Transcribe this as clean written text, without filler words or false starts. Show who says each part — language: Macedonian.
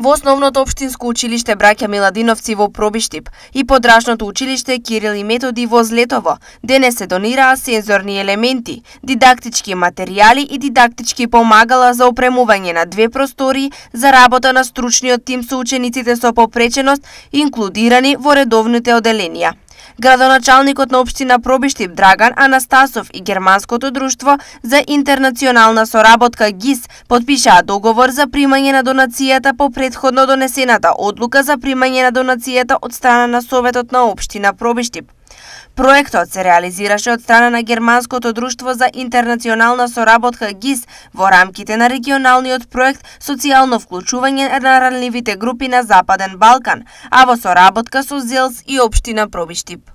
Speaker 1: Во основното општинско училиште Браќа Миладиновци во Пробиштип и подрачното училиште Кирил и Методи во Злетово денес се донираа сензорни елементи, дидактички материјали и дидактички помагала за опремување на 2 простории за работа на стручниот тим со учениците со попреченост инклудирани во редовните оделенија. Градоначалникот на општина Пробиштип Драган Анастасов и Германското друштво за интернационална соработка ГИС подпишаа договор за примање на донацијата по претходно донесената одлука за примање на донацијата од страна на Советот на општина Пробиштип. Проектот се реализираше од страна на Германското друштво за интернационална соработка ГИС во рамките на регионалниот проект Социјално вклучување на ранливите групи на Западен Балкан, а во соработка со ЗЕЛС и општина Пробиштип.